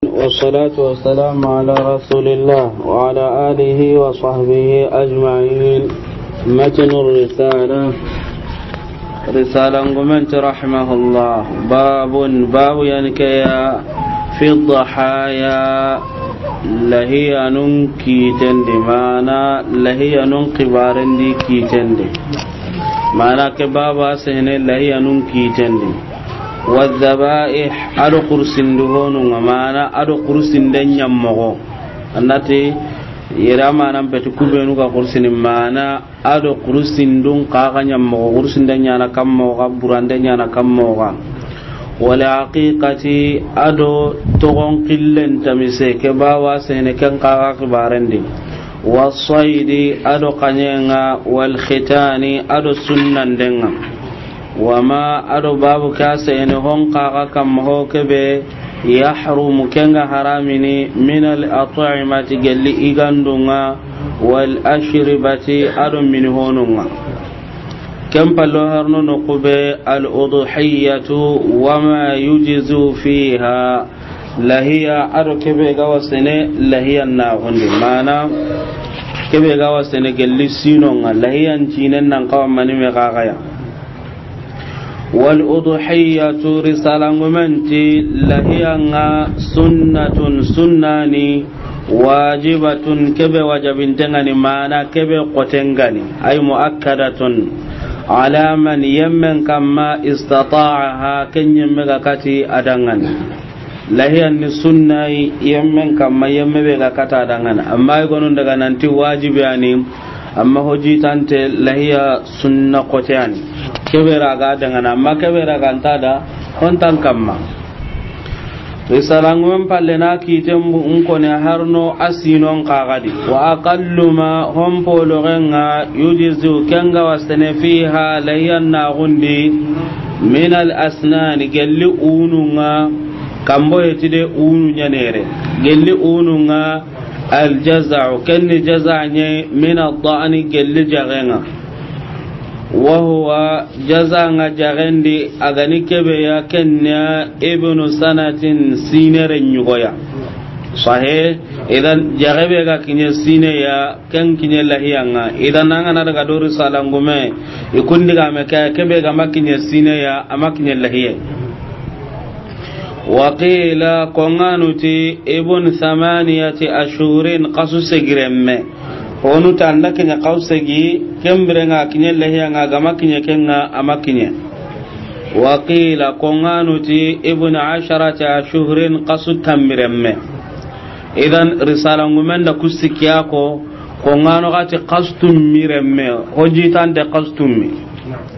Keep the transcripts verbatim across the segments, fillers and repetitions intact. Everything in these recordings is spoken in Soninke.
والصلاة والسلام على رسول الله وعلى آله وصحبه أجمعين. متن الرسالة. رسالة قمنت رحمه الله. باب، باب ينكيا في الضحايا. Lahiyanun kiitendi, maana lahiyanun xibarendi kiitendi. Maana ke baaba sehene lahiyanun kiitendi. Wadhabaih, ado xursindu honunga, maana ado xursinden ɲammoxo. Annati yere maana mbeti kubenu ga xursini, maana ado xursindun xaxa ɲammoxo, xursinde ɲana kammoxa, burande ɲana kammoxa. Wal aqiqati, ado toxon xillen tamise, ke baaba sehene ken xaxa xibarendi. Wasaydi, ado xaɲenga. Wal khitani, ado sunnandenga. Wama, ado babu ka sehene hon xaxa kamma ho kebe, yahrumu, kenga haramini, min al at'imati, gelli igandunga, wal ashribati, ado mini honunga. Ken pallo harno no kube, al udhiyatu wama yujzu fiha. Lahiya ado kebe ga wasene lahiya na gundi, maana kebe ga wasene gelli sinonga, lahiyan cinen nan kawa mani me gagaya. Wal udhiyatu, risalangumenti, lahiyanga sunnatun, sunnani, wajibatun, kebe wajabintengani, maana kebe xotengani, ay muakkadatun, ala man, yemmen kamma, istata'aha, ken yemme ga kati adangani. Lahiyan ni sunnayi yemmen kamma, yemme be ga kata dangana. Amma i gonun daga nanti wajibi ani, amma hojitante lahiya sunna kote ani. Kebe raga dangana, amma kebe raga nta da hontan kamma. Risalangumen palle na kiten bu nkone harno asinon kagadi. Wa aqallu ma, hon pologenga, yujzu, kenga wasene, fiha, lahiyan na gundi, min al asnani, gelli ununga, kambo yeti de unu ɲanere. Gelli ununga, al jaza'u, kenni jaza' ɲe, min al da'ni, gelli jagenga. Wa huwa, jazanga jagendi, agani kebe ya, kenna ibnu sanatin, sinere ɲugoya. Sahe, idan jagebe ga kinye sine ya, ken kinye lahiyanga. Idan nanga na daga dori salangume, ikundi ga me ke, kebe ga makinye sine ya, amakinye lahiye. Wa qila, konganu ti, ibn thamaniyati ashhurin, kasu segiremme. Honu tanda kinya kasu segi, kembire nga kinye lahiya nga gama kinye kenga ama kinye. Wa qila, konganu ti, ibn asharati ashhurin, kasu tammiremme. Idan risala ngumenda kusikiya ko, kongano gati kastummi remme, hojitante kastummi.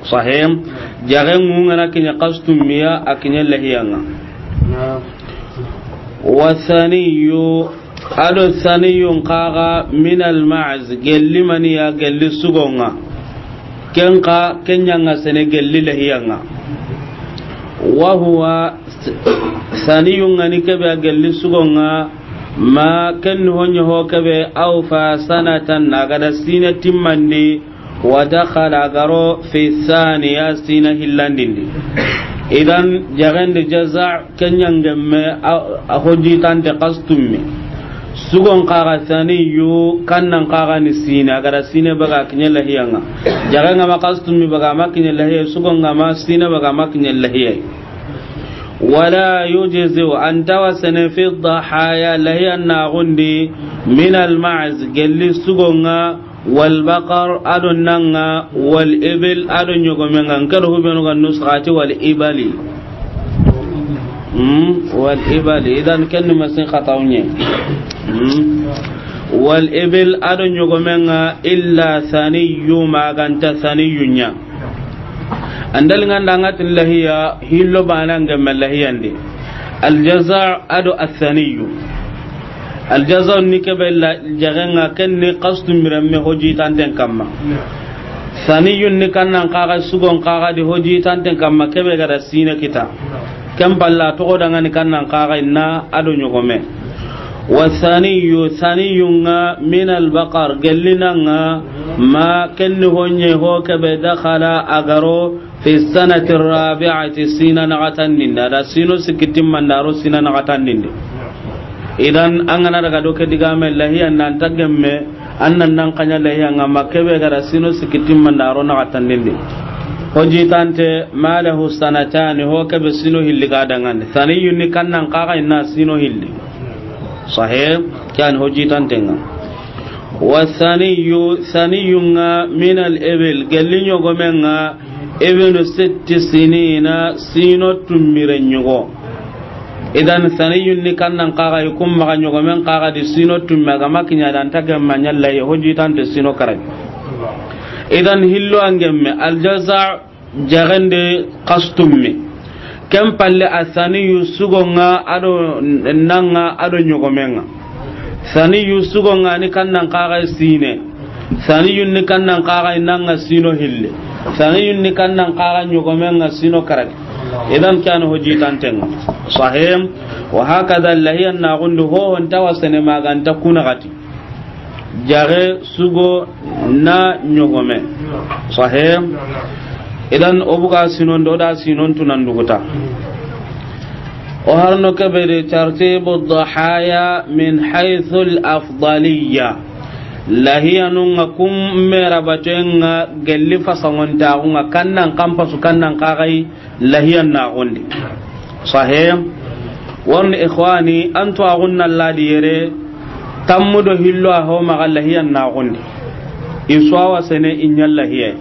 Sahim, jage ngungana kinya kastummiya, a kinya lahiyanga. Wa thaniyu, ado thaniyun kaga min al ma'z, gelli maniya, gelli sugonga. Kenka, kenyanga sene gelli lahiyanga. Wa huwa, thaniyun ngani kebe a gelli sugonga, ma ken honye ho kebe, awfa sanatan, nagada sine timmandi, wa dakhala garo fi thaniya, sina hillandindi. Idan, jagende jaza' kenyangemme a, a hojitante kastummi. Sugon kaga thaniyu, kannan kaga ni sine, agada sine baga kinye lahiyanga. Jagenga ma kastummi baga ma kinye lahiye, sugonga ma sine baga ma kinye lahiye. Wala yujzi'u, antawa sene fi dhahaya, lahiyan nagundi, min al ma'z, gelli sugonga, wal baqar, ado nanga, wal ibil, ado nyogomenga. Nkado hubenu ga nusxati wal ibali. Hmm, wal ibali. Idan kenni masin khatawnye. Hmm. Wal ibil, ado nyogomenga, illa thaniyu, maganta thaniyunya. Andal nganda ngatin lahiya, hillo bana ngemme lahiyandi. Al jaza' ado athaniyu. Al jaza' ni kebe la jagenga kenni kastummi remme hojitanten kamma. Thaniyun ni kannan kaga sugon kaga di hojitanten kamma kebe gada sine kita. Ken balla togo dangani kannan kaga inna ado nyogome. Wa thaniyu, thaniyunga min al baqar, gellinanga, ma kenni honye ho kebe dakhala agaro fi sanati rabi'ati, sina nagatandinde, ada sino sikitin mandaro sina nagatandinde. Idan an ga na daga do ke digame lahiya nan ta gemme, an nan nan xaɲa lahiya ŋa ma ke be ga da sino sikki timma nda ro na xatandindi. Ho jitante ma lahu sanatani, ho ke be sino hilli ga dangandi. Saniyun ni kannan xaxa inna sino hilli. Sahih, ke yan ho jitante ŋa. Wa saniyu, saniyun ŋa min al ibil, gelli ɲogomen ŋa, ibnu sitti sinina, sino tummire ɲogo. Idan saniyun ni kannan xaxa, i kun maxa ɲogomen xaxa di sino tumme, a ga ma kiɲa dan ta gemma ɲa lahiya, ho jitante sino karagi. Idan hillo an gemme, al jaza, jaxende xas tumme. Ken palle a saniyu sugo ŋa ado nan ŋa ado ɲogomen ŋa. Saniyu sugo ŋa ni kannan xaxa sine. Saniyun ni kannan xaxa nan ŋa sino hille. Saniyun ni kannan xaxa ɲogomen ŋa sino karagi. Idan ke yan ho jitante ŋa. Sahih. Wa hakada lahiya na gundu ho hon ta wa sene ma ga nta kuna xati. Jaxe sugo na ɲogome. Sahih. Idan o buga sinon do da sinon tunan duguta. O harno ke be de tartibu dhahaya min haythu al afdaliyya. Lahiyanun ŋa kun mera baten ŋa gelli fasangon ta ŋa kannan kampasu kannan xaxai lahiyan na gondi. Sahih. Warni ikhwani, an to agunna ladi yere, tammu do hillo a ho maxa lahiyan na gondi. I suwa sene i ɲa lahiya.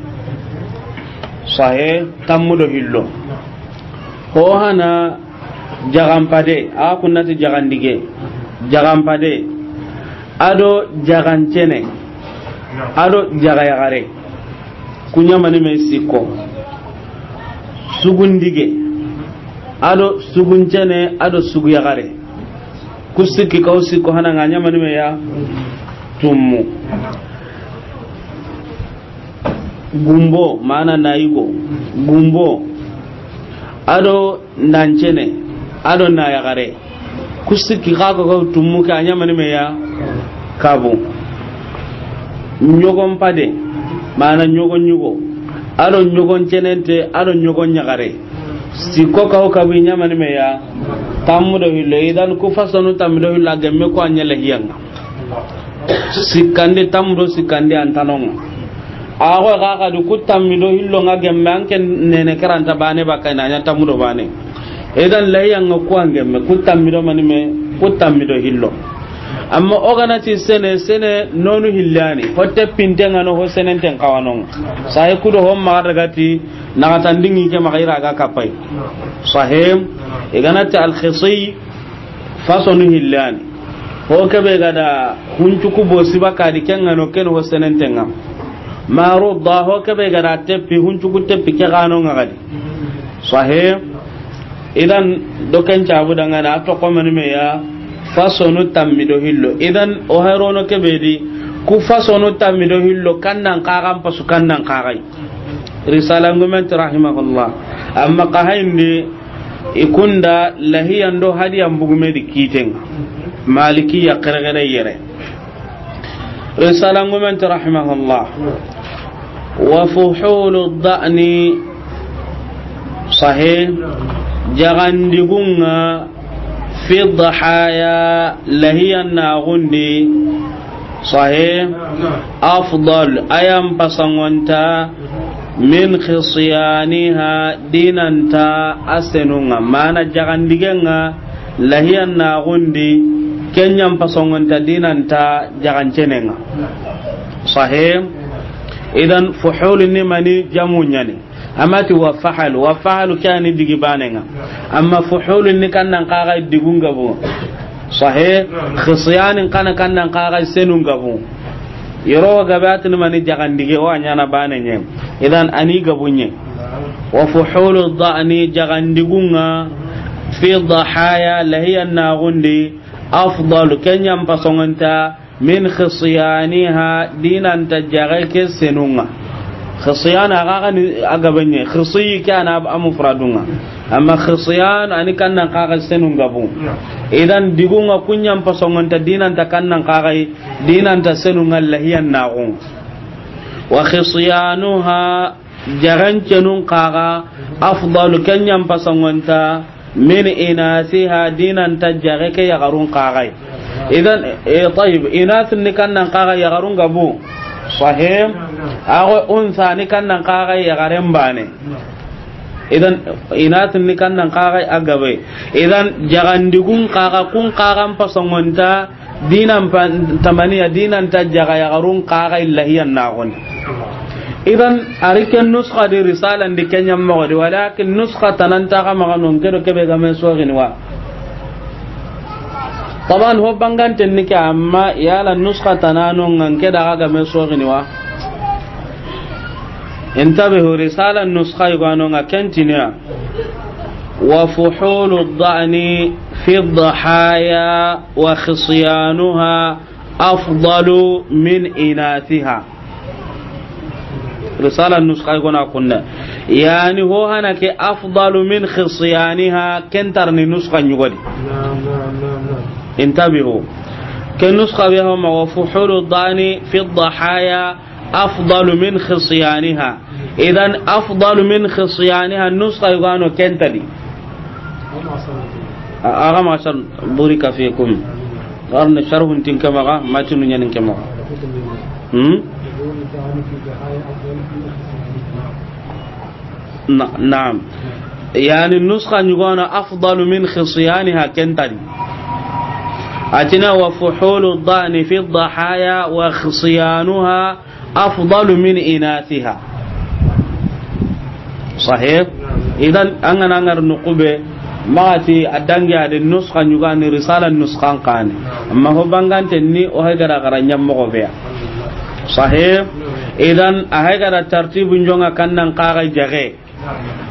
Sahih, tammu do hillo. Ho hana jaxanpade, a kunnati jaxandige. Jaxanpade. Ado jaxancene. Ado jaxayaxare. Ku ɲamani me sikko. Sugundige. Ado suguncene, ado suguyaxare. Ku sikki kaw sikko hana ŋa ɲamani me ya tummu. Gumbo, mana nayigo. Gumbo. Ado nancene, ado nayaxare. Ku sikki xa ko ko tummu ke a ɲamani me ya kabu. Ɲogon pade, mana ɲogon ɲugo. Ado ɲogon cenente, ado ɲogon ɲaxare. Sikko kaw kabu i ɲamani me ya tammu do hillo. Idan ku fasonu tammu do hillo a gemme ko a ɲa lahiya ŋa. Sikkandi tammu do sikkandi an ta no ŋa. A xo xa xa du ku tammi do hillo ŋa gemme an ken nene karanta bane bakka i na ɲa tammu do bane. Idan lahiya ŋa ku an gemme ku tammi do mani me ku tammi do hillo. Amma o ga na ti sene sene nonu hillani ho te pinte ŋa no ho senen ten xawa no ŋa. Sahe ku do ho ma daga ti na ga tandingi ke ma xayra ga kapai. Sahih. I ga na ti al khisi fasonu hillani. Ho ke be ga da huncuku bo siba kadi ken ŋa no ken ho senenten ŋa. Maru da ho ke be ga da teppi huncuku teppi ke ga no ŋa gadi. Sahih. Idan do ken cabu dangana a to ko mani me ya fasonu tammi do hillo. Idan o herono ke be di ku fasonu tammi do hillo kannan xaxan pasu kannan xaxai. Risala ngumen ti rahimahullah. Amma ka hayndi i kunda lahiyan do hadiyan bugume di kiten. Malikiya xerexere yere. Risala ngumen ti rahimahullah. Wa fuhulu da'ni sahih. Jagandigunga fi dhahaya lahiyan na gundi. Sahih. Afdal ayan pasangonta min khisyaniha dinanta asenunga mana jagandigenga lahiyan na gundi kenyan pasangonta dinanta jagancenenga. Sahih. Idan fuhul ni mani jamu nyani. Amma ti wa fahalu, wa fahalu ke ani digi banenga. Amma fuhulun ni kannan kaga digun gabu. Sahih, khisiyanin kana kannan kaga senun gabu. Yoro gabe atini mani jagandige o anyana banenye. Idan ani gabunye. Wa fuhulu dha'ni jagandigunga fi dhahaya lahiyan na gundi afdalu kenyan pasongonta min khisiyaniha dinanta jage ke senunga. Khisiyana aga ni agabanye khisiyi kana amufradunga. Amma khisiyan ani kannan kaga senunga bu. Idan digunga kunyan pasongonta dinanta kannan kaga dinanta senunga lahiyan nagun. Wa khisiyanuha jagancenun kaga afdalu kenyan pasongonta Min inasiha, dinanta jaxe ke yaxarun xaxay. Idan, e, tayib, inasin ni kannan xaxa yaxarun gabu. Sahih. Ago unsa ni kannan xaxa yaxaren bane. Idan, inasin ni kannan xaxa a gabe. Idan, jaxandigun xaxa, kun xaxan pasongonta dinan pa-, tamaniya, dinanta jaxa yaxarun xaxa illahiyan naxoni. Idan, a ri ken nuska di, risalan di, ken ɲa moxo di, walakin nuska tananta xa maxa non ke do kebe game soxini wa. Taban, ho banganten ni ke, amma yala nuska tananon ŋa ke da xa game soxini wa. Intabihu, risalan nuska yugo no ŋa ken tiniya. وفحول الضأن في الضحايا وخصيانها أفضل من إناثها. Risala nuska i gona kunna. Yani ho hana ke afdalu min khisyaniha, ken tarni nuska ɲugodi. Naam, naam, naam, naam. Intabihu. Ken nuska be ho ma وفحول الضأن في الضحايا أفضل من خصيانها. Idan, afdalu min khisyaniha, nuska yugano kentadi. A-, aga ma sar, burika fikum. Arna sharhun tin kamaga, matinu ɲanin kamaga. Hmm? Na-, naam. Yani, nuska yugano afdalu min khisyaniha kentadi. Atina وفحول الضأن في الضحايا وخصيانها أفضل من إناثها. Sahih. Idan, an ga na ŋari nuxu be, maxa ti a dangi a de nuska ɲugani, risala nuskan kani. Amma ho banganten ni, o hay gara gara ɲa moxo be ya. Sahih. Idan, a hay gara tartibu ɲonga kannan xaxa jaxe.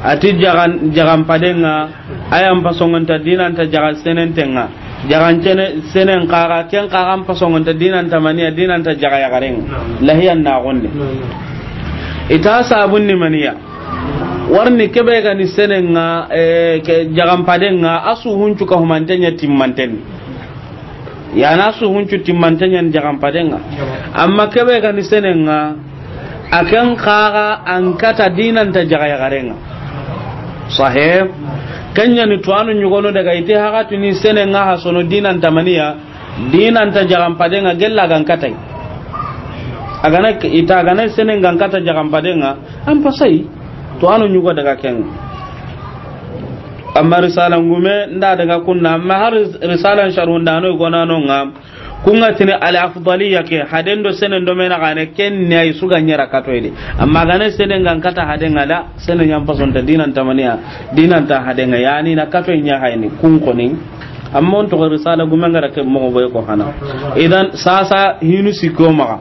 A ti jaxan, jaxan padenŋa, a yan pasongonta dinanta jaxa senentenŋa. Jaxan cene, senen xaxa, ken xaxan pasongonta dinanta maniya, dinanta jaxa yaxarenŋa. Lahiyan naxonde. I ta sabun ni maniya. Warni kebe ga ni senenŋa, eh, ke jaxan padenŋa, a su huncu ka humanten ɲa timmanten. Yana su huncu timmanten ɲa ni jaxan padenŋa. Amma kebe ga ni senenŋa, a ken xaxa an kata dinanta jaxa yaxarenŋa. Sahih. Ken ɲa ni tuwanu ɲugono daga ite haxatuni senenŋa ha sono dinanta maniya, dinanta jaxan padenŋa gella gan katay. A gana ita gana senen gan kata jaxan padenŋa, an pasai. Tuwanu ɲugo daga ken. Amma risala ngume nda daga kunna, amma har ris-, risalan sharhundano i gonano ŋa. Kunga tini al afdaliya ke, haden do senen do mena gane, ken ne ay suga ɲera katoyde. Amma gane senen gan kata hadenŋa da, senen yan pasonta dinanta maniya, dinanta hadenŋa, yani na katoy ɲa hayni, kun koni. Amma on to risala gume ngara ke moxo boy ko hana. Idan sasa hinu sikko maxa.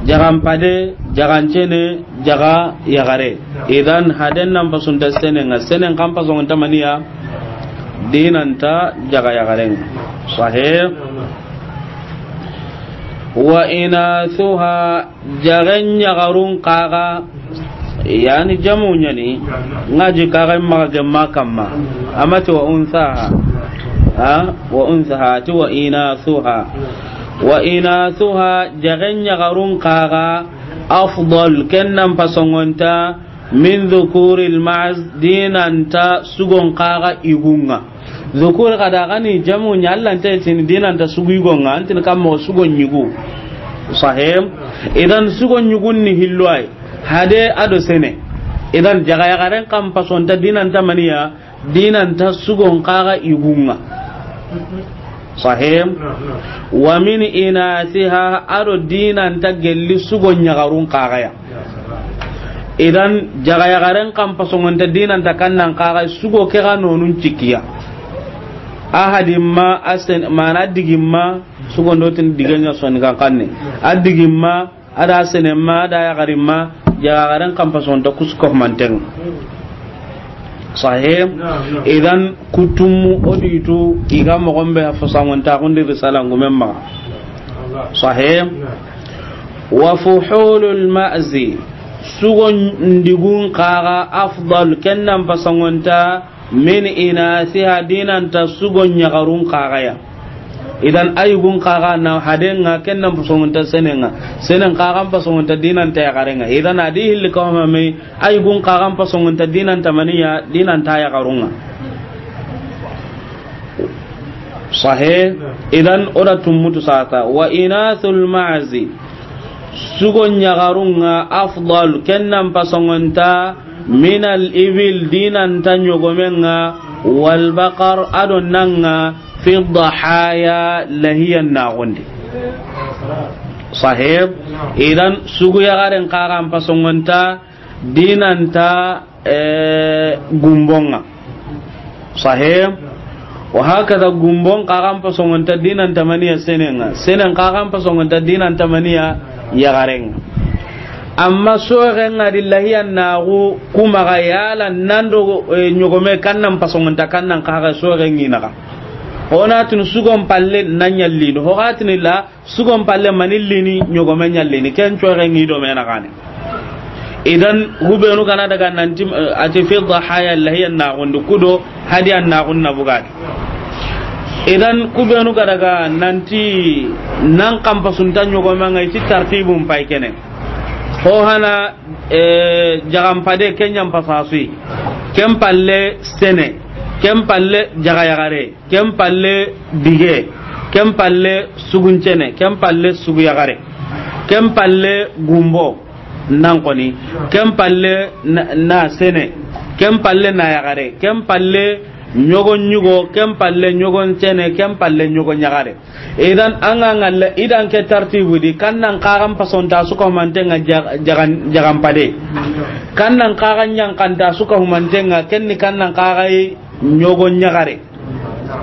Jaxan pade, jaxan cene, jaxa yaxare. Idan haden nan pasunta senenŋa, senen kan pasonta maniya, dinanta jaxa yaxarenŋa. Sahih. Wa inathuha, jaxen yaxarun xaxa, yani jamu ɲa ni, ŋa ji kaxa maxa gemma kamma, amati wa unthaha, ha, wa unthaha, ti wa inathuha. Wa inathuha, jaxen yaxarun xaxa, afdal, ken nan pasongonta, min dhukuril ma'z, dinanta sugon xaxa igunŋa. Dhukur xa da gani jamu ɲa, Alla nta tini dinanta sugu igonŋa, an tini kammo sugon ɲugu. Sahih. Idan sugon ɲugun ni hillo ay. Hade a do sene. Idan jaxa yaxaren kan pasonta dinanta maniya, dinanta sugon xaxa igunŋa. Sahih. Wa min inathiha, a do dinanta gelli sugon yaxarun xaxa ya. Idan jaxa yaxaren kan pasongonta dinanta kannan xaxa, sugo ke ga nonun cikiya. A hadimma, a sen-, mana digimma, sugon do tin digen ɲa soni kan kanne. A digimma, a da senemma, a da yaxarimma, jaxa yaxaren kan pasongonta kusu ko manten. Sahih. Naam, naam. Idan kutumu oditu iga moxon be fasangonta kundi risala ngumen maxa. Sahih. Naam. Wa fuhulul ma'zi, sugon digun xaxa, afdal, ken nan pasongonta, min inathiha, dinanta sugon yaxarun xaxa ya. Idan ayugun xaxa na hadenŋa, ken nan pasongonta senenŋa. Senen xaxan pasongonta dinanta yaxarenŋa. Idan a di hilli kawma me, ayugun xaxan pasongonta dinanta maniya, dinanta yaxarunŋa. Sahih. Idan o da tummutu sasa. Wa inathul ma'zi, sugo ɲaxarun ŋa, afdal, ken nan pasongonta, minal ibil, di nan ta ɲogomen ŋa, wal baqar, a do nan ŋa, fi dhahaya, lahiyan naxundi. Sahih. Idan sugu yaxaren xa xa n pasongonta, di nan ta, eh, gumbon ŋa. Sahih. Wa hakaza, gumbon xa xa n pasongonta, di nan ta maniya senen ŋa. Senen xa xa n pasongonta, di nan ta maniya yaxaren ŋa. Amma soxen ŋa di, lahiyan naxu ku maxa, yala nan do, eh, ɲogome, kan nan pasongonta, kan nan xa xa, soxen ŋi naxa. Ho na tini sugon palle na ɲallini, ho ga tini la, sugon palle mani lini, ɲogome ɲallini, ken soxen ŋi do me naxane. Idan hubenu ga na daga nanti, eh, a ti fi dhahaya, lahiyan naxundi, ku do hadiyan naxun na bugadi. Idan kubenu ga daga nanti nan xa n pasunta ɲogomen ŋa, i ti tartibun pay kene. Ho hana, eh, jaxanpade, ken ɲa n pasasuyi. Ken palle sene, ken palle jaxayaxare, ken palle dige, ken palle suguncene, ken palle suguyaxare, ken palle gumbo, nan koni, ken palle na, na sene, ken palle na yaxare, ken palle ɲogon ɲugo, ken palle ɲogon sene, ken palle ɲogon yaxare. Idan an ga ŋalla, idan ke tartibu di, kan nan xa xa n pasonta su ka humanten ŋa ja-, jaxan-, jaxanpade. Kan nan xa xa n ɲaxanta su ka humanten ŋa, ken ni kan nan xa xa yi ɲogon yaxare.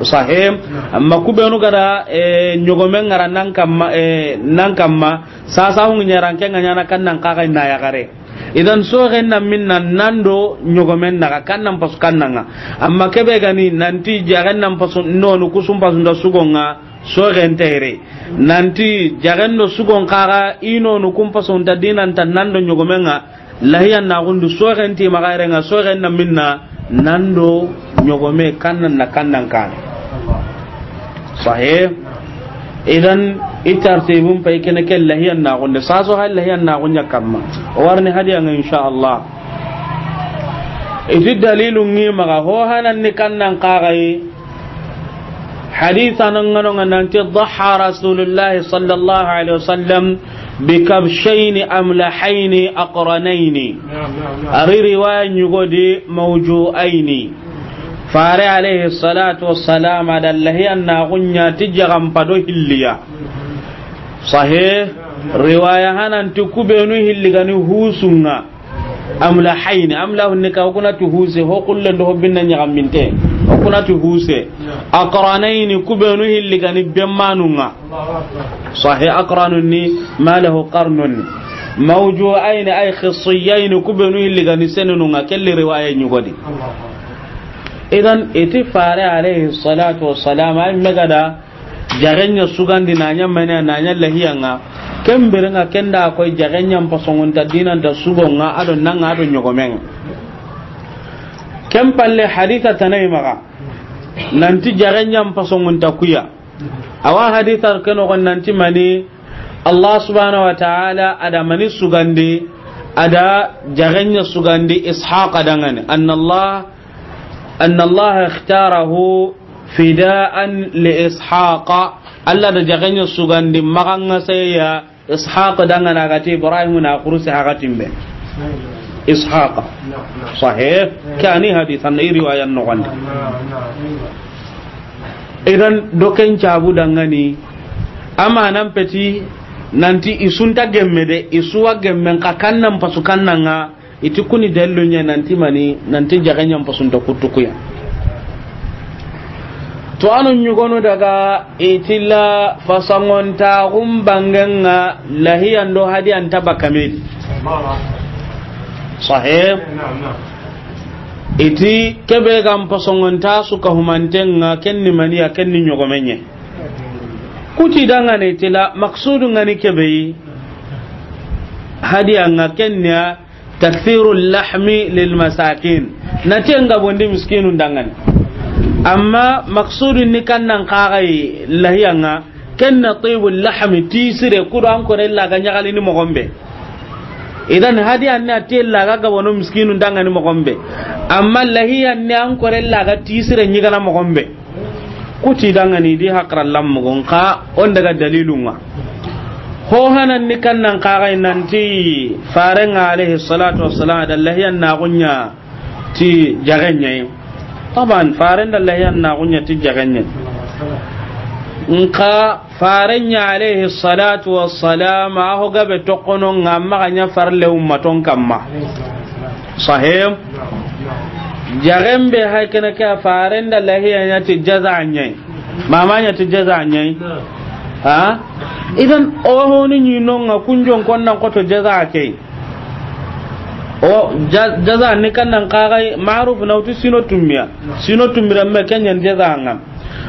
Sahih. Amma kubenu ga da, eh, ɲogomen ŋara nan kamma, eh, nan kamma, sasa hungu ɲaran ken ŋa ɲana kan nan xa xa na yaxare. Idan soxen na minna nan do ɲogomen naxa, kan nan pasu kan nan ŋa. Amma kebe ga ni nanti jaxen nan pasu nonu ku su n pasunta sugon ŋa, soxen ta yere. Nanti jaxen do sugon xa xa i nonu ku n pasunta, di nan ta nan do ɲogomen ŋa, lahiyan naxundi, soxen ti maxa yere ŋa, soxen na minna nan do ɲogome, kan nan na kan nan kane. Sahih. Idan i tartibun pay kene, ke lahiyan naxunde, saso hay lahiyan naxun ɲa kamma. O warni hadiya ŋa, insha Allah. I ti dalilu ŋi maxa, ho hanan ni kan nan xa xa yi. Hadisa nan ŋa no ŋa nanti, dhaha Rasulullahi sallallahu alaihi wasallam bi kabshayni amlahayni aqranayni. Naam, naam, naam. A ri riwaya ɲugo di, mawju'ayni. Fare alayhi salatu wassalam a da lahiyan naxun ɲa ti jaxanpa do hilliya. Sahih. Riwaya hanan ti kubenu hilli ga ni husun ŋa. Amlahayni, amlahun ni ka, o ku na ti huse, ho kullen do ho binna ɲaxaminte, o ku na ti huse. Aqranayni, kubenu hilli ga ni bemmanun ŋa. Sahih, aqranun ni ma lahu qarnun. Mawju'ayni ay khissiyayni, kubenu hilli ga ni senenun ŋa, kelli riwaya ɲugo di. Idan i ti Fare alayhi salatu wassalam ay me ga da jaxen ɲa sugandi, na ɲa mani, na ɲa lahiya ŋa. Ken bire ŋa ken da koy jaxen ɲa n pasongonta, di nan ta sugon ŋa, a do nan ŋa, a do ɲogomen ŋa. Ken palle hadisa tana yi maxa nanti jaxen ɲa n pasongonta kuya. Awa hadisa ke noxon nanti mani, Allah subhanahu wa ta'ala a da mani sugandi, a da jaxen ɲa sugandi Ishaqa danŋa ni. Anna Allah, anna Allah ikhtarahu fida'an li Ishaqa. Allah da jaxen ɲa sugandi maxa ŋa seya Ishaq danŋa na ga ti Ibrahim na kurusi hakatin be. Ishaq. Sahih. Kani hadisan i riwayan noxon di. Idan do ken cabu danŋa ni, amanan peti nanti i su nta gemme de, i su wa gemmen xa kan nan pasu kan nan ŋa. I ti kuni dalilu ɲa nanti mani, nanti jaxen ɲa n pasunta kuttu kuya. To a no ɲugonu daga i ti la fasangontaxun bangen ŋa lahiyan do hadiyan ta bakka me di. Sahih. I ti kebe ga n pasongonta su ka humanten ŋa, ken ni maniya, ken ni ɲogomen ɲa. Kuti danŋa ni ti la maksudu ŋa ni kebe yi hadiya ŋa, ken ni ya takthiru lahmi lil masakin. Na ti ŋa bondi miskinun danŋa ni. Amma maksudu ni kan nan xa xa yi lahiya ŋa, ken na tibu lahmi, tisire, ku do an kore la ga ɲaxalini moxon be. Idan hadiya ni a ti la ga gabono miskinun danŋa ni moxon be. Amma lahiya ni an kore la ga tisire ɲigana moxon be. Kuti dangani di hakra lammugun ka on daga dalilun ŋa. Ho hanan ni kannan kagai nanti farenga alayhi salatu wassalam da lahiyan na gunya ti jagenye. Taban faren da lahiyan na gunya ti jagenye. Nka farenye alayhi salatu wassalam a ho gabe tokono nga maganya farle ummaton kamma. Sahih. Jagen be haykene ke faren da lahiya nya ti jaza nyai. Mama nya ti jaza nyai. Ha? Idan o honi ni nonga kunjon konnan koto jaza ke. O ja-, jaza ni kannan kagai ma'ruf na uti sino tummiya. Sino tummira me kenyan jaza nga.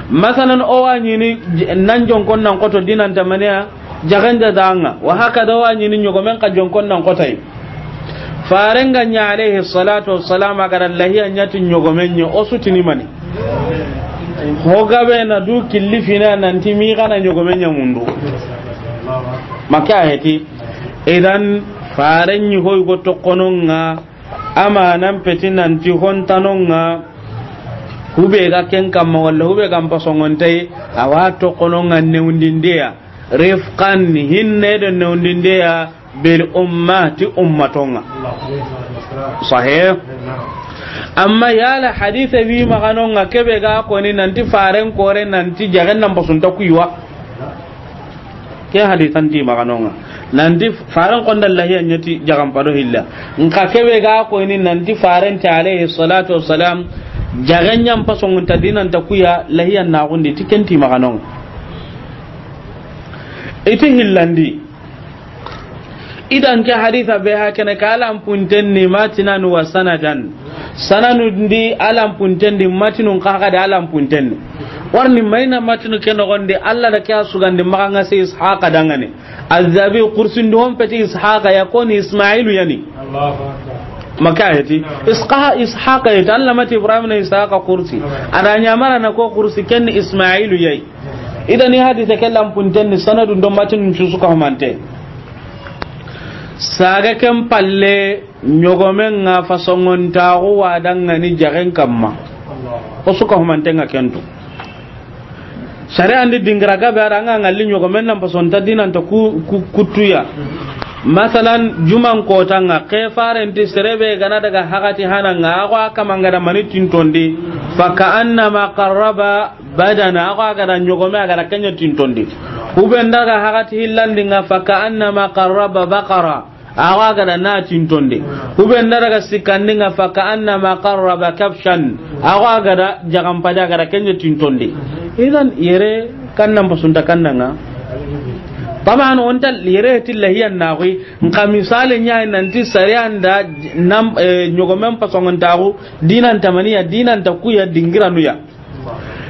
Masalan o wa nyini j-, nan jon konnan koto dinan tamaniya. Jagen jaza nga. Wa hakada o wa nyini nyogomen ka jon konnan kotai. Farenga nya alayhi salatu wassalam a gara lahiya nya ti nyogomen nya o sutini mani. Ho gabe na du killi fina nanti mi gana nyogomen nya mundu. Maka heti. Idan farenyi hoy go tokononga amanan peti nanti hontanonga hube ga ken kamma walla hube ga mpasongontai awa tokononga newndindeya. Rifqan hinne do newndindeya bil umma ti ummatonga. Sahih. Amma yala hadise wi maganonga kebe ga koni nanti faren kore nanti jagen nan basunta kuywa. Ke hadisan ti maganonga nanti faren konda lahiya nyati jagan pado hilla. Nka kebe ga koni nanti faren ti alayhi salatu wassalam jagen nyam pasongunta dinanta kuya lahiya na gundi ti kenti maganonga. Iti hillandi. Idan ke hadisa be hakene ka alam punten ni matinan wa sanadan. Sananu ndi alam punten di matinun ka ga da alam punten ni. Warni maina matinu ke no gondi Allah da ke sugandi maganga sai Ishaqa dangane. Azabi kursin do hon peti Ishaqa ya koni Ismailu yani. Maka heti. Isqa-, Ishaqa heti. Allah mati Ibrahim na Ishaqa kursi. Ada nyamara na ko kursi ken Ismailu yayi. Idan ni hadise ke lampunten ni sanadun do matinun cusu ka humante. Saga ken palle nyogomen nga fasongontaxu wa dangani jagen kamma. O su ka humanten nga kentu. Sariya ndi dingira gabe ara nga ngalli nyogomen nan fasonta dinanta ku, ku, kutuya. Masalan juman kotanga ke farenti serebe gana daga hagati hananga ago akamanga da mani tintondi. Fa ka annama qarraba badana, ago a ga da ɲogome, a ga da ken ɲa tintondi. Hube nda ga hagati hillandinga, fa ka annama qarraba baqara, ago a ga da na tintondi. Hube nda daga sikkandinga, fa ka annama qarraba kabshan, ago a ga da jagampadi, a ga da ken ɲa tintondi. Idan yere kannan pasunta kannanga. Taban onta yere ti lahiyan naxuy, nka misali ɲa nanti sariya nda nam, eh, ɲogomen pasongontaxu, dinan tamaniya, dinan ta kuya, dingiranuya.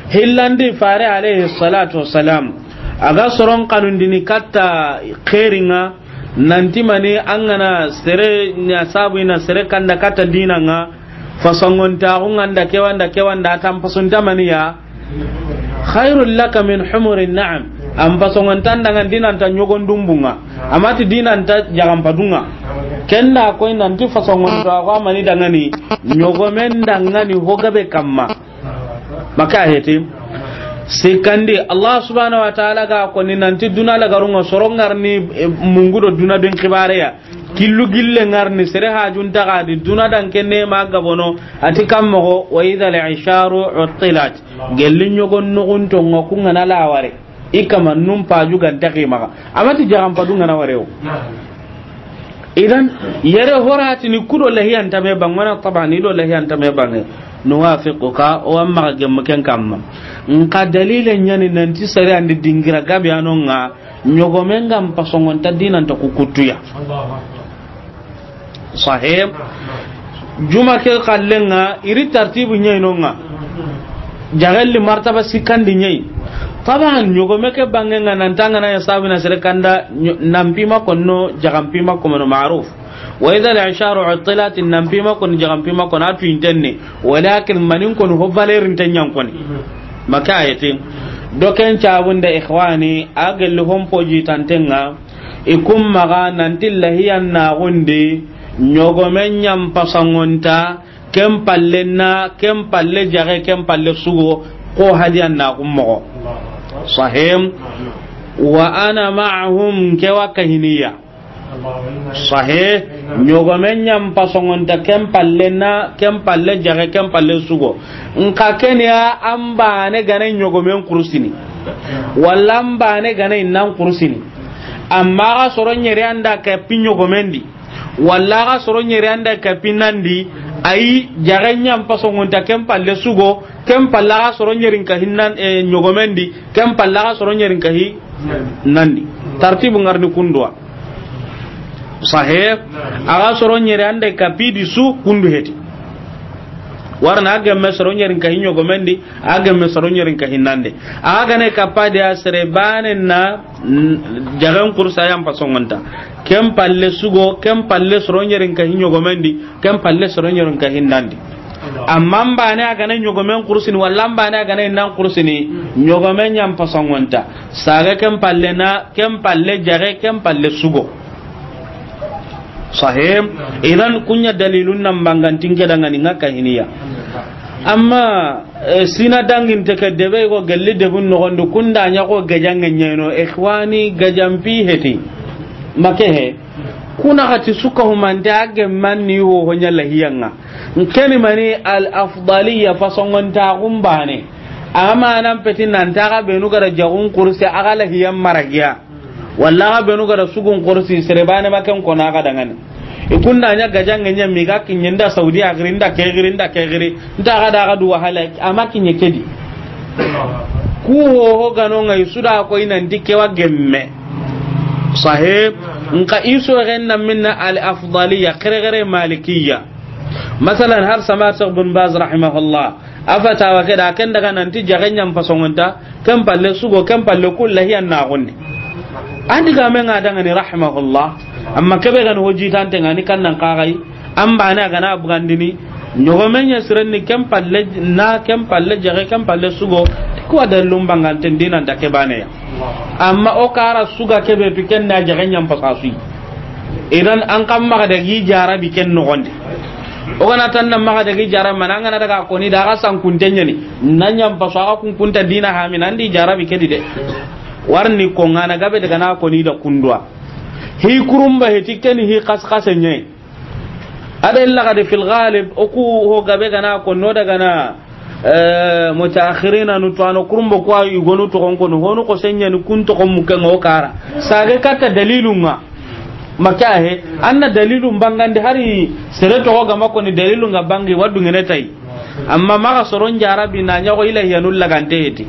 Hillandi fare alayhi salatu wassalam, a ga soron kanundini katta xeringa, nanti mani an gana sere ɲa sabu ina sere kanda katta dinanga, fasongontaxu nganda kewanda kewanda tan pasunta maniya, khairul laka min humurin na'am. An pasongontan dangan dinanta ɲogon dumbunga, amati dinanta jagampadunga. Kenda koy nanti fasongontaxu amani dangani ɲogomen dangani hogabe kamma. Maka heti. Sikandi, Allah subhanahu wa ta'ala ga koni nanti duna lagarunga sorongarni, eh, mungudo duna ben xibareya. Killu gille ngarni sere hajun tagadi duna dan kenne ma gabono ati kammogo wa idha al-isharu uttilat. Gelli ɲogon nugun tonga kungana laware. I kama num paju ganta ximaxa. Amati jagampadu ngana warewo. Idan yere horatini kudo lahiyan tame bangana tabani do lahiyan tame bange. Nuwafiquka o amma gemma ken kamma. Nka dalile ɲani nanti sari andi dingira gabe anonga ɲogomen gam pasongonta dinanta kukutuya. Sahib. Juma ke kallenga iri tartibu ɲainonga. Jagalli martaba sikandi ɲai. Taban ɲogome ke bangenga nantanga na ya sabina sere kanda nyo-, nampima konno jagampima komono maruf. Wa idha al-isharu uttilat nampima kon jagampima kon atu intenne. Walakin manin kon ho valeur ntenyan koni. Maka ayati. Doken cabunda ikhwani agalli hompo jitantenga. I kun maxa nanti lahiyan naxundi ɲogomen ɲan pasangonta, ken palle na, ken palle jaxe, ken palle sugo, ko hadiyan na kun moxo. Sahih. Wa ana ma'ahum, ke wa kahiniya. Sahih. Ɲogomen ɲan pasongonta, ken palle na, ken palle jaxe, ken palle sugo. Nka keniya an bane gane ɲogomen kursini. Walla an bane gane nan kursini. Amma ga soro ɲeri anda kapi ɲogomen di. Walla ga soro ɲeri anda kapi nan di. Ayi, jaxe ɲan pasongonta, ken palle sugo, ken palle ga soro ɲerin kahi nan, eh, ɲogomen di, ken palle ga soro ɲerin kahi nan di. Tartibu ngarni kunduwa. Sahih. A ga soro ɲeri anda kapi di su kundu heti. Warna a gemme soro ɲerin kahi ɲogomen di, a gemme soro ɲerin kahi nan di. A ga ne kappa di a sere bane na, mm, jaxen kursa yan pasongonta. Ken palle sugo, ken palle soro ɲerin kahi ɲogomen di, ken palle soro ɲerin kahi nan di. Amma an bane a gane ɲogomen kursini, walla an bane a gane nan kursini, ɲogomen ɲan pasongonta. Saga ken palle na, ken palle jaxe, ken palle sugo. Sahih. Idan kunya dalilun nan bangantin ke dangani nga kahiniya. Amma, eh, sina dangin te ke debe ko gelli debun noxondi kunda ɲa ko gajange ɲeno, ikhwani, gajan pi heti. Make he. Kuna xati suka humante a gemman ni ho honya lahiyanga. Nkeni mani al afdaliya fasongonta gumbane. Amma nan peti nan taga benu gara jagun kursi a ga lahiyan maragiya. Walla ga benu gara sugun korsi sere bane ma ken kona ga dangani. I kunda ɲa gajange ɲa mi ga kinye nda Saudi a giri nda ke giri nda ke giri. Nta ga da ga du wahala, amma kinye kedi. Ku ho ho gano ngai suda ko inan di ke wa gemme. Sahih. Nka iso gen na minna al afdaliya, kere kere malikiya. Masalan, har sama Sheikh bin Baz rahimahullah, a fatawa ke da ken daga nanti jaxe ɲan pasongonta, ken palle sugo, ken palle kulla hiyan na gunni. Andi ga men ga dangani rahimahullah, amma kebe gani hojitante ngani kannan kagai, an bane a gana bugandini, ɲogomen ɲa sirenni ken palle na, ken palle jaxe, ken palle sugo, kuwa dalilun banganten dinan da ke bane ya. Amma o kara suga kebe tu ken na jaxe ɲan pasasui. Idan an kan maxa dagi jarabi ken noxondi. O gana tan na maxa dagi jarabi mana an gana daga koni da ga sankunte ɲani. Na ɲan paso a ga kunkunta dina hamin andi jarabi kedi de. Warni ko ngana gabe daga na koni da kundwa. Hi kurumba heti keni hi kas kase ɲai. Ada illa gadi fil ghalib, oku ho gabe gana ko no daga na, eh, mutaakhirina nu to ano kurumbo ko ay gonu to kon kono, hono ko senya ni kun to kon muke ngo kara. Sage kata dalilun nga. Maka he, anna dalilun bangandi hari sere to ga ma ko ni dalilun nga bangi wadu ngene tai. Amma maga soron jarabi na ɲago ilahi anul lagante heti.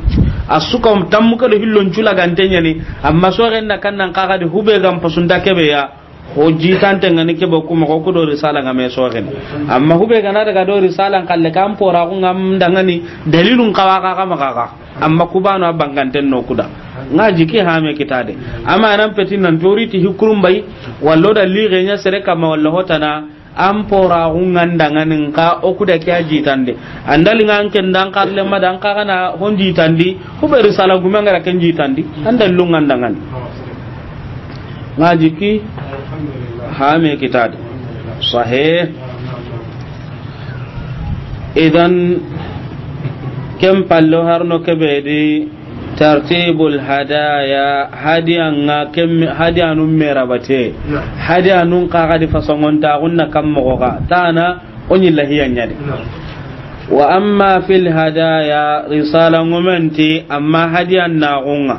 Asuka tammuka do hillon cu lagante ɲani, amma so gen na kannan kaga de hube gam pasunta kebe ya. Ho jitante ngani kebe kuma ko kudo risala nga me soxen. Amma hube gana daga do risala kalle kan pora ko ngam dangani dalilun kawa ka kama kaka. Amma kubano abanganten no kuda. Nga jiki hame kitade. Amma nan peti nan toriti hikurum bay. Wallo da lire nya sere kama wallo hotana. An pora ko ngandangani nka o kuda kiya jitande. Andali ngan ken dan karle ma dan kagana hon jitandi. Hube risala gume ngara ken jitandi. Andali lu ngandangani. Nga jiki hame kitade. Sahih. Idan ken pallo harno kebe di tartibul hadaya, hadiya nga ken, hadiya nun merabate. Hadiya nun kaga di fasongonta gunna kam mogo ga tana. Oni lahiya ɲadi. Wa amma fil hadaya, risala ngumenti, amma hadiya nagunga.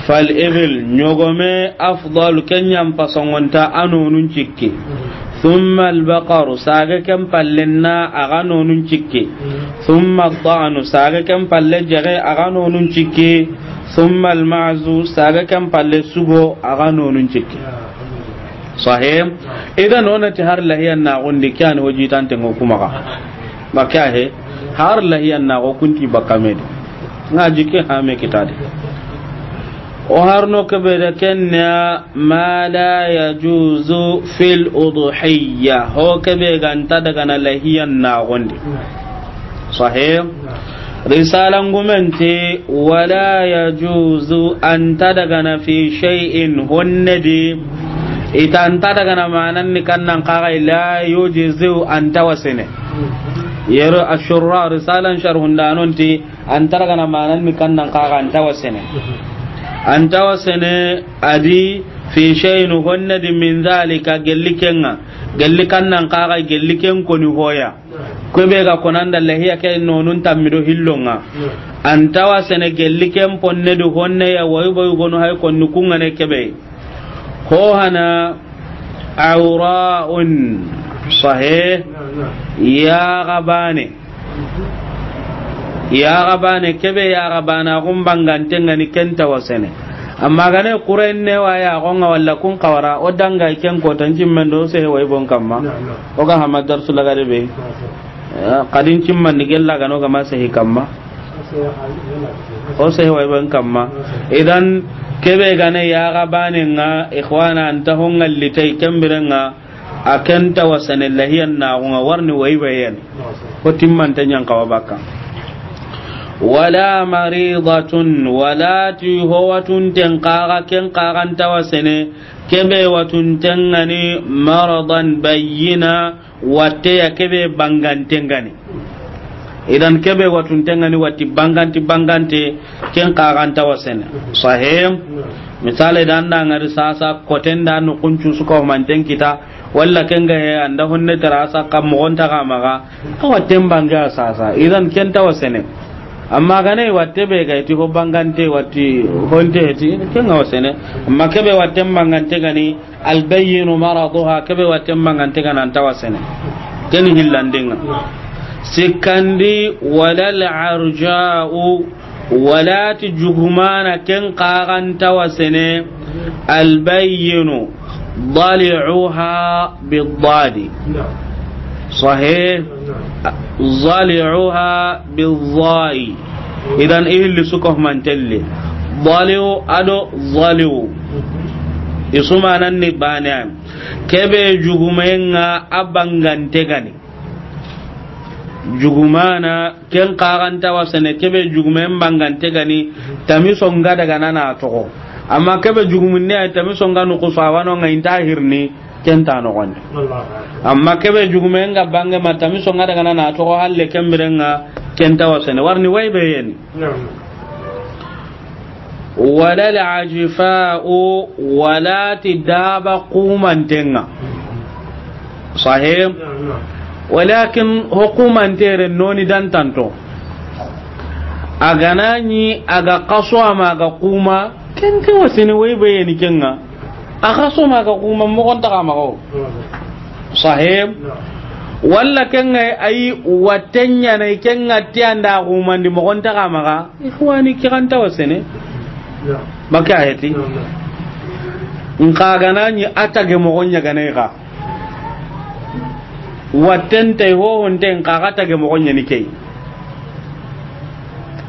Fal ibil, ɲogome afdal, ken ɲa n pasongonta a nonun cikki. Thumma al baqaru, sage ken palle na a ga nonun cikki. Thumma ad da'nu, sage ken palle jage a ga nonun cikki. Thumma al ma'zu, sage ken palle sugo a ga nonun cikki. Sahih. Idan onati har lahiya nagundi kani hojitante ngo kumaga. Maka he, har lahiya nago kunti bakamedi. Nga jike hame kitade. O harno kebe da kenna ma la yajuzu fil udhiyya. Ho kebe ganta daga na lahiya nagundi. Sahih. Risala ngumenti wala yajuzu anta daga na fi shay'in honnedi. Ita anta daga na manan ni kannan kaga la yujizu anta wasene. Yero Ashurra risalan sharhundanon ti, an taragana manan ni kannan kaga an tawa sene. An tawa sene a di fi shay'in honne di min zalika gelli kenga. Gelli kannan kaga gelli ken koni hoya. Kebe ga konanda lahiya ke nonun tammido hillonga. An tawa sene gelli ken ponne di honne ya wayu bayu gonu hay konni kungane kebe. Ho hana awra'un sahih. Ya gabane. Ya gabane kebe ya gabana gum bangante ngani kenta wasene. Amma gane kuren ne wa ya gonga walla kun kawara o danga ken ko tan cimmen do se way bon kamma. O ga hama darsu lagare be. Kadin cimman ni gella gano ga ma se kamma. O se way bon kamma. Idan kebe gane ya gabane nga ikhwana anta hongalli tay kembirenga. A kenta wasane lahiyan na gunga warni waybayen. Ko timmante nyan kawa bakka. Wala maridatun, wala ti ho watun ten kaga ken kagan tawasene, kebe watun tengani maradan bayyina, watte ya kebe banganten gani. Idan kebe watun tengani watti bangante bangante ken kagan tawasene. Sahih. Misale dan da ngari sasa koten da no kuncu suko manten kita. Walla kenga he anda honne tara sa kam mo gonta ga maga. Awa tembanga sasa. Idan ken tawasene. Amma gane watte be ga ti ho bangante watti honte ti kenga wasene. Amma kebe watte bangante gani albayyinu maraduha kebe watte bangante gana an tawasene. Ken hillandinga. Sikandi walal arja'u. Wala ti jugumana ken kagan tawasene albayyinu dali'uha biddadi. Sahih. Dali'uha biddai. Idan ihilli suko mantelle. Dali'u ado dali'u. Isumanan ni bane. Kebe jugumenga abangante gani. Jugumana ken kagan tawasene kebe jugumen bangante gani tamiso nga daga nana togo. Amma kebe jugumunne ay tamiso nga no kusa wano nga inta hirni ken ta no gonde. Amma kebe jugumen nga bange ma tamiso nga daga nana togo halle kembirenga ken tawasene warni waybe yeni. Wala al-ajfa'u, wala ti daba kumantenga. Sahih. Walakin ho kumantere noni dantanto. A gana ni a ga kaso ama ga kuma ken ke wasini waybe yeni kenga. A kaso ma ga kuma mogon ta ga mago. Sahih. Walla kenga ayi watenya na kenga ti anda gumandi mogon ta ga maga. Ikhwani, kiran ta wasene. Baka ayati. Nka gana ni atage mogon ya gane ga. Watente ho honte nka ga tage mogon ya ni kei.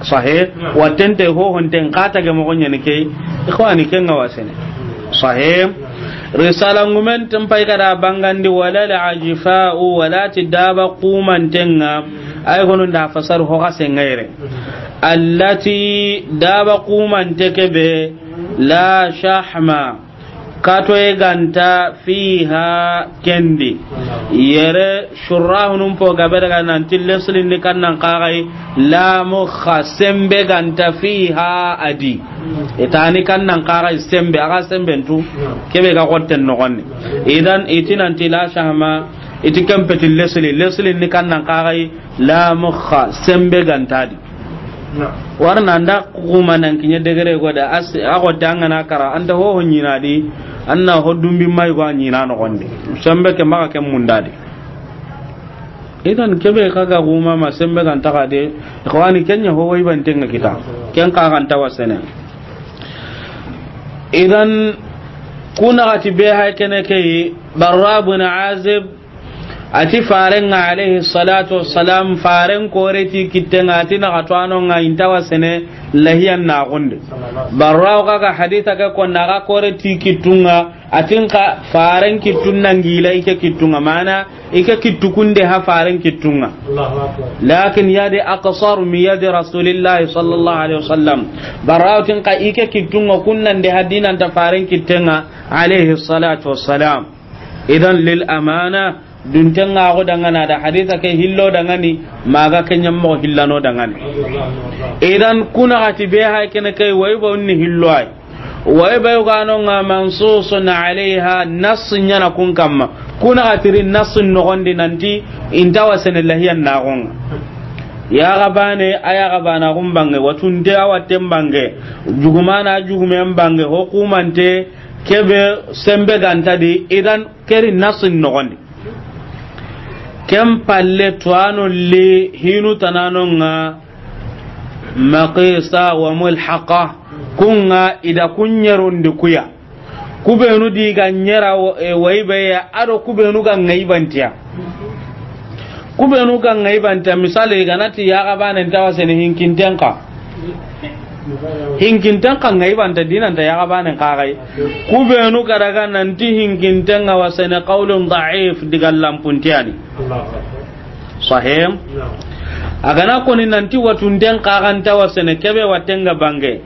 Sahih. Watente ho honte nka tage mogon ya ni kei. Ikhwani, kenga wasene. Sahih. Risala ngumen tan pay kada bangandi wala al-ajfa'u wala ti daba kumantenga. Ay gono nda fasar ho ga sengayre. Allati daba kumante kebe la shahma. Katoye ganta fiha kendi. Yere shurrahunun po gabe daga nanti leslin ni kannan kagai la mukha sembe ganta fiha adi. Itani kannan kagai sembe aga sembe ntu kebe ga gotten no gonni. Idan iti nanti la shahma iti kempeti lesli lesli ni kannan kagai la mukha sembe ganta di. Warna anda kuma nan kinya degere goda as ago dangana kara anda ho ho nyina di anna ho dumbi mai go nyina no gonde sembe ke maka ke mundadi. Idan kebe kaga kuma ma sembe kan taka de ikhwani kenya ho wai ban tenga kita ken ka kan tawasene. Idan kuna gati be hay kene ke Barra bin Azib. Ati farenga alayhi salatu wassalam, faren kore ti kittenga, ati na katuano nga intawa sene lahiyan na gonde. Barra o kaga haditha ke ko na ga kore ti kittunga, atin ka faren kittun nangila ike kittunga, mana ike kittukunde ha faren kittunga. Lakin yadi aqsar min yadi Rasulillahi sallallahu alaihi wasallam. Barra o tin ka ike kittunga kunnande hadinanta faren kittenga alayhi salatu wassalam. Idan lil amana, Dunten ŋa xo dangana da hadisa ke hillo dangani, maxa ke ɲammo hillano dangani. Idan kuna xati be hay kene ke, way ba unni hillo ay. Way ba yugano ŋa mansusun alayha, nas ɲana kun kamma. Kuna xatiri nas noxondi nanti inta wasene lahiyan naxonga. Yaxa bane, a yaxa bana xun bange, watunte a watten bange, jugumana jugumen bange, hukumante kebe sembe ganta di, idan keri nasin noxondi. Ken palle tuwano li hinu tanano ŋa maqisa wa mulhaqa, kun ŋa ida kun ɲerundi kuya. Kubenu di ga ɲera wa-, e, wayi be ya, ado kubenu ga ŋayi bantiya. Kubenu ga ŋayi bantiya, misali, ganati yaxa bane nta wasene hinkinten ka. Hinkinten ka ŋayi banta dinanta yaxa bane ka gai. Kubenu ga daga nanti hinkinten ŋa wasene qawlun da'if diga lampuntiyani. Sahim. A gana koni nanti watunten kaxanta wasene kebe watenga bange.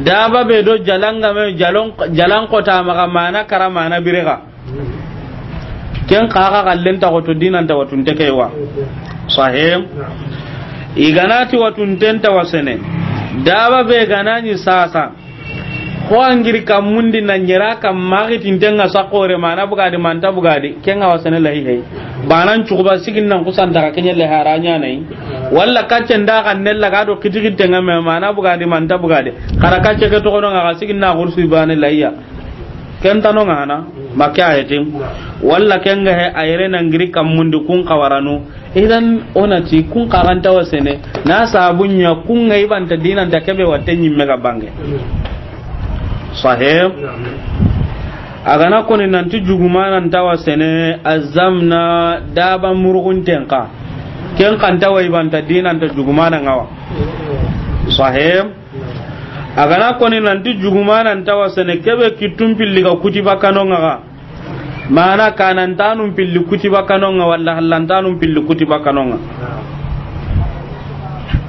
Daba be do jalanga me jalon, jalan kota maxa mana kara mana birega. Ken kaxa kallen ta xoto dinanta watunte kewa. Sahim. I ganati watunten ta wasene. Daba be ganani sasa. Ho angiri kammundi na ɲera kam maxi tinten ŋa sakore mana bugadi manta bugadi, ken ŋa wasene lahi hay. Banan cukuba sigin nan kusanta ka kenye le haranya nai. Walla kacce nda kan nella ga do kitikite ŋa me mana bugadi manta bugadi. Kara kacce ke toxono ŋa ka sigin na gursu bane lahiya. Ken tano ŋa hana, makke ayetin. Walla ken ga he ayere nangiri kammundi kun kawaranu. Idan onati kun kaxanta wasene, na sabunya kun ŋa ibanta dinanta kebe watte ɲimme ga bange. Sahih. A gana koni nanti jugumananta wasene, azamna daba murugunten ka. Ken kanta wa ibanta dinanta jugumana ŋawa. Sahih. A gana koni nanti jugumananta wasene, kebe kittun pilli ga kutiba kano ŋa ga. Mana kanantanun pilli kutiba kano ŋa walla hallantanun pilli kutiba kano ŋa.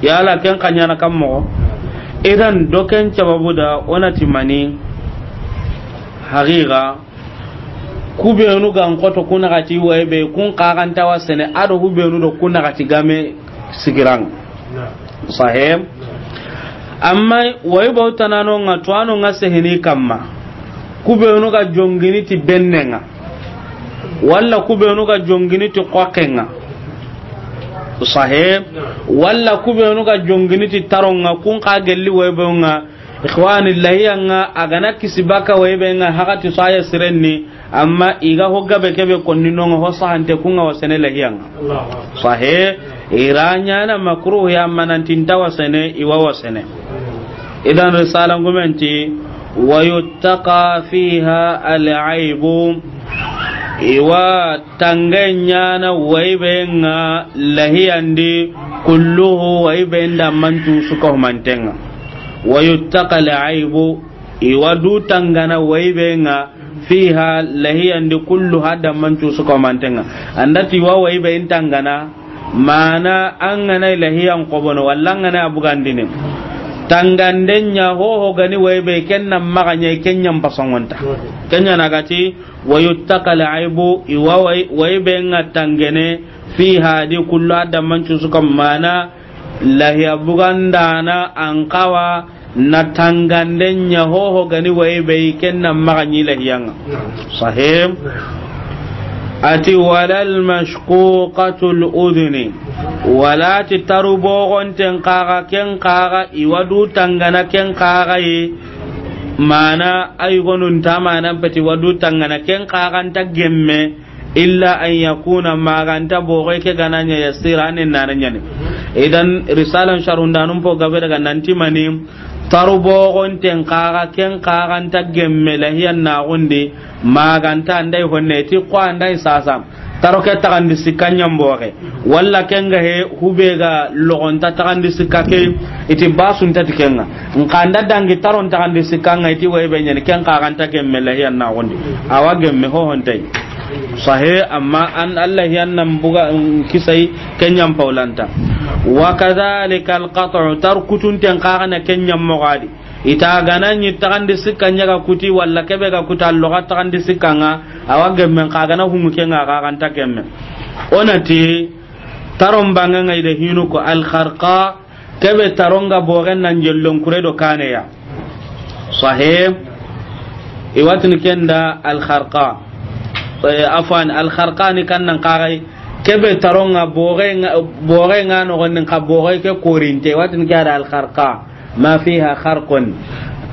Yala ken kanyana kam moxo. Idan do ken sababu da onati mani haqiqa kubenu gan koto kuna gati wayi be kun kaxanta wasene ado hubenu do kuna gati game sigirang. Sahim. Amma wayi bautanano ŋa tuwano ŋa sehini kamma. Kubenu ga jongini ti bennenga. Walla kubenu ga jongini ti kokenga. Sahih. Walla kubenu ga jongini ti taronga kun ka gelli waybenga. Ikhwani, lahiyanga a gana kisi baka waybenga hakati saya sirenni. Amma iga ho gabe kebe konni nonga ho sahante kunga wasene lahiyanga. Sahih. Iranyana makruh ya manantinta wasene iwa wasene. Idan risala ngumenti, wa yuttaqa fiha al-aibu. Iwa tangenyana waibenga lahiyandi kulluhu, waibenda mantu suka humantenga. Wa yuttaqa al-aibu. Iwa du tangana waibenga fiha lahiyandi kullu hadda mancu suka mantenga. Andati wa waibe intangana. Mana angana lahiyan kobono walla angana abugandini. Tangandenya hoho gani waibe kenna maganya kenya mpasongonta. Kenya nagati wa yuttaqa al-aibu iwa wai-, waibenga tangene fiha di kullu hadda mancu suka mana lahiya bugandana ankawa. Na tanganden ɲa hoho gani wayi be yi, ken na maxa ɲi lahiyanga. Sahih. Ati walal mashquqatul udhuni. Wala ti taru bogonten kaga ken kaga iwa du tangana ken kaga yi. Mana ay gonun ta mana peti wa du tangana ken kaga nta gemme. Illa an yakuna, maganta bogoy ke gananya yasira, anen nana nyani. Idan risalan sharundanun po gabe daga nanti mani, taru bogon ten kaga, ken kaga nta gemme lahiyan na gundi, maganta andai honne ti ko andai sasa. Taro ke tagandi sikanya mboge. Walla kenga he hube ga logonta tagandi sikka ke, iti basun tati kenga. Nkanda dangi taron tagandi sikka nga iti waybe nyani ken kaga nta gemme lahiyan na gundi. Awa gemme ho hontai. Sahe, amma an Allah yan nan buga, mm, kisai kenyam paulanta. Wa kadhalika al-qat'u, tar kutunten kaga na kenyam mogadi. I ta gana ɲi taxandi sikka ɲa ga kuti, walla kebe ga kuta loxa taxandi sikka ŋa, a wa gemmen xa gana humu ke ŋa, xa ga nta gemme. O na ti, taron bange ŋa i da hinu ko alxarqa, kebe taron ga bogen nan jellon kure do kaneya. Sahih. I wa tini ken da alxarqa. Eh, afwan, alxarqa ni kan nan xaxay. Kebe taron ga boge ŋa, boge ŋa noxon di, xa boge ke korinte. I wa tini ke da alxarqa. Ma fiha kharqun.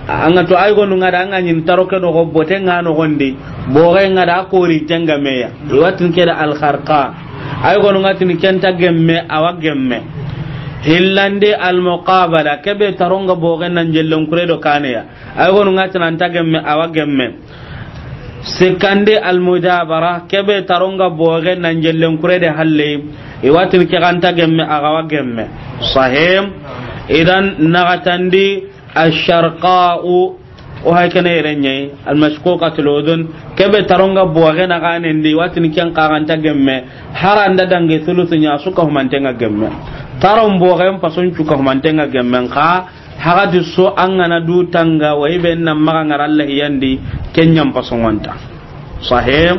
An ga to ay gonu ŋa da, an ga ɲi taro ke noxo, bote ŋa noxon di, boge ŋa da, a korinte ŋa meya. I wa tini ke da alxarqa. Ay gonu ŋa tini ken nta gemme, a wa gemme. Hillandi almuqabala, kebe taron ga bogen nan jellon kure do kaneya. Ay gonu ŋa tini a nta gemme, a wa gemme. Sikkandi almujabara, kebe taron ga bogen nan jellen kure de halle. I wa tini ke ga nta gemme, a ga wa gemme. Sahih. Idan naxatandi asharqa'u, o hay kene yere ɲa yi, almashquqatul udhun, kebe taron ga bogen na ganen di, i wa tini ken xa ga nta gemme, haranda dange sulusu ɲa, su ka humanten ŋa gemme. Taron bogen pason cu ka humanten ŋa gemme, xa hagati so an ga na du tanga, wa i be nan maxa ŋara Alla hiyandi, ken ɲa n pason ŋa nta. Sahih.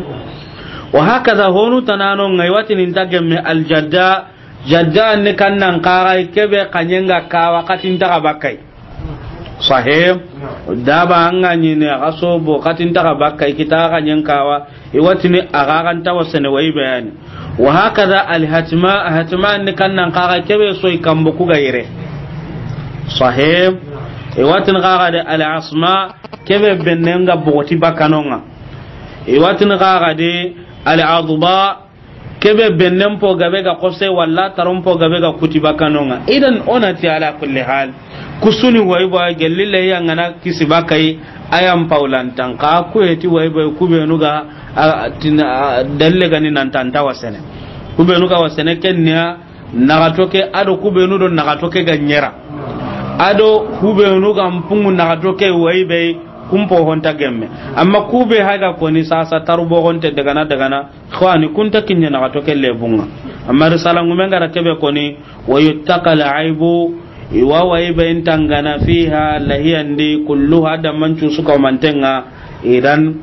Wa hakaza honu tananon ŋa i wa tini nta gemme aljadda, jadda ni kan nan xaxay, kebe xaɲen ga kawa, xatin ta ga bakay. Sahih. Daba an ga ɲi ne, a ga sobo, xatin ta ga bakay, kita xaɲen kawa, i wa tini a ga ga nta wasene wa i be yani. Wa hakaza alhatma, hatma ni kan nan xaxay, kebe soyi kambo ku ga yere. Sahih. I wa tini xaxa de alasma, kebe bennen ga bogoti bakano ŋa. I wa tini xaxa de aladba, kebe bennen po gabe ga xose, walla taron po gabe ga kuti bakano ŋa. Idan o na ti ala kulli hal, kusuni wa i ba gelli le ya ŋa na kisi bakay, a ya n pawlantan xa ku heti wa i ba ku benu ga, a, tin, a, dalle ga ni nan ta nta wasene. Ku benu ga wasene ken ɲa naxato ke, a do ku benu do naxato ke ga ɲera. A do ku benu ga mpungu naxato ke wa i be kun po ho nta gemme. Amma ku be hay ga koni sasa taru bogonte dagana dagana, xawani kun ta kiɲe naxato ke lebun ŋa. Amma risala ŋumen ga ra kebe koni, wa yuttaqa al aibu, i wa wa i be n tangana fiha, lahiyandi, kulluha, da mancu su ka humanten ŋa. Idan,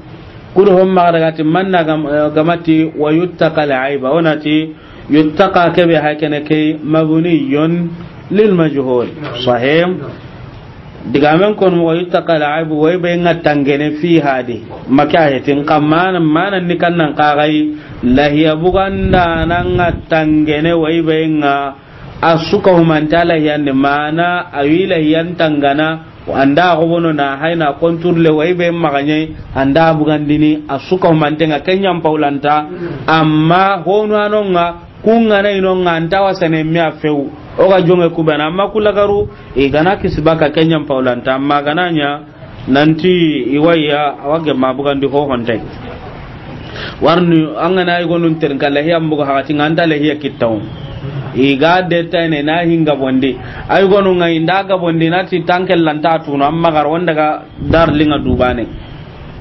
kudo hon maxa daga ti manna gam-, eh, gamati, wa yuttaqa al aiba. O na ti, yuttaqa kebe hay kene ke mabniyun lil majhul. Sahih. Digamen kon mo yuttaqa al aibu, wa i be ŋa tangene fiha di. Maka hetin xa mana, mana ni kan nan xaxay, lahiya buganda na ŋa tangene wa i be ŋa, a su ka humanta lahiyandi, mana a wi lahiyan tangana, anda xobono na hayna konturle wa i be maxa ɲa yi, anda bugandini, a su ka humanten ŋa, ken ɲa n pawlanta. Amma honu ano ŋa, kun ga na i no ŋa, a nta wasene me a few. O ga jonge ku bena, amma ku lagaru, i ga na kisi baka, ken ɲa n pawlanta, amma ga na ɲa, nanti i wa ya, a wa gemme bugandi ho ho nta yi. Warni, an ga na i gonun terin ka lahiya mbuga hagati ŋa, an nta lahiya kitta wo. I ga de tayne na hinga bondi. Ay gonu ŋa i nda ga bondi na ti tanke lanta tunu, amma gar wanda ga dar linga dubane.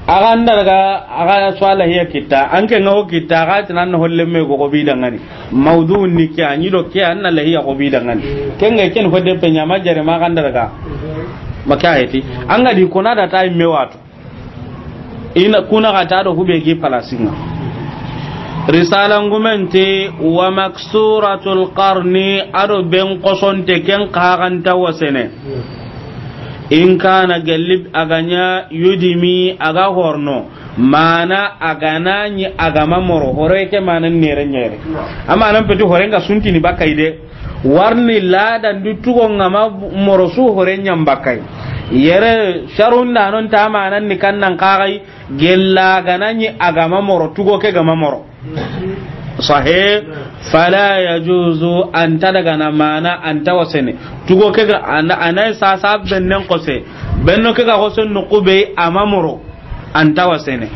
A ga nda daga, a ga so lahiya kitta, an ke ŋa wo kitta, a ga ti nan holle me go go bi dangani. Mawdu ni ke, a ɲi do ke, an na lahiya go bi dangani. Ken ga ken fo de pe ɲa ma jare ma ga nda daga. Maka heti. An ga di kona da tay me watu. Ina kuna ga ta do hube gi palasinga. Risala ngumente, wa maksuratul qarni, a do ben kosonte ken xa ga nta wasene. In kana gallib a ga ɲa yudimi a ga horno. Mana a ga na ɲi a ga ma moro. Hore ke mana nere ɲere. Amma nan peti hore nga suntini bakay de. Warni ladan du tugo ŋa ma moro su hore ɲa n bakay. Yere sharun da non ta manan ni kan nan xaxay, gella ga na ɲi a ga ma moro, tugo ke ga ma moro. Sahih. Fala yajuzu, a nta daga na mana, a nta wasene. Tugo ke ga, a na, a na sasa bennen kose. Benno ke ga kose nuku be a ma moro. A nta wasene.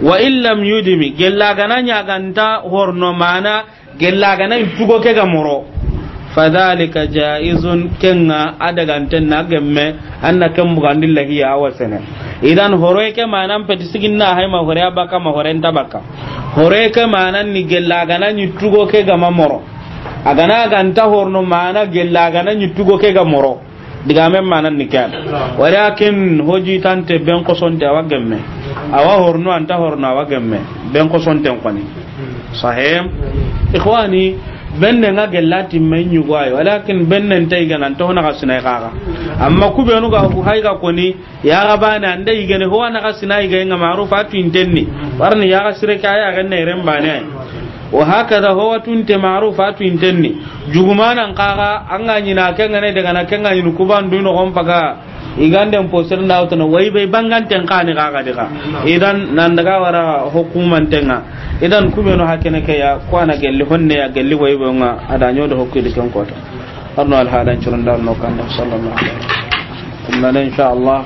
Wa in lam yudimi, gella ga na ɲa ga nta horno mana, gella ga na tugo ke ga moro. Fadhalika jaizun, ken ŋa a daga nten na gemme, an na ken bugandi lahiya a wasene. Idan hore ke manan peti siginna hay ma hore a baka ma hore nta baka. Hore ke manan ni gella ga na ɲi tugo ke ga ma moro. A ga na ga nta horno mana gella ga na ɲi tugo ke ga moro. Digamen manan ni ke ya. Walakin hoji tante ben kosonte a wa gemme. A wa horno anta horno a wa gemme. Ben kosonten koni. Sahih. Ikhwani, benne nga gella timme ñugo ay. Walakin benne nta yigana nta ho naxa sina i xaxa. Amma ku benu ga ku hay ga koni, ya ga bane anda yigene ho naxa sina yiga nga ma'ruf a tu intenni. Warni ya ga sire ka ya ga ne ren bane ay. Wa hakada ho wa tunte ma'ruf a tu intenni. Jugumanan xaxa an ga ñina ke nga ne daga na ke nga ñini kubandu no gon paga. Iganden posir nda wutana way bay banganten xani xaxa diga. Idan nan daga wara hukumanten ŋa. Idan ku benu hakene ke ya, ku ana gelli honne ya gelli way bay nga a da ñodo hokki di ken kota. Arno alhalan curun darno kanda sallallahu alaihi wasallam. Inna insha Allah.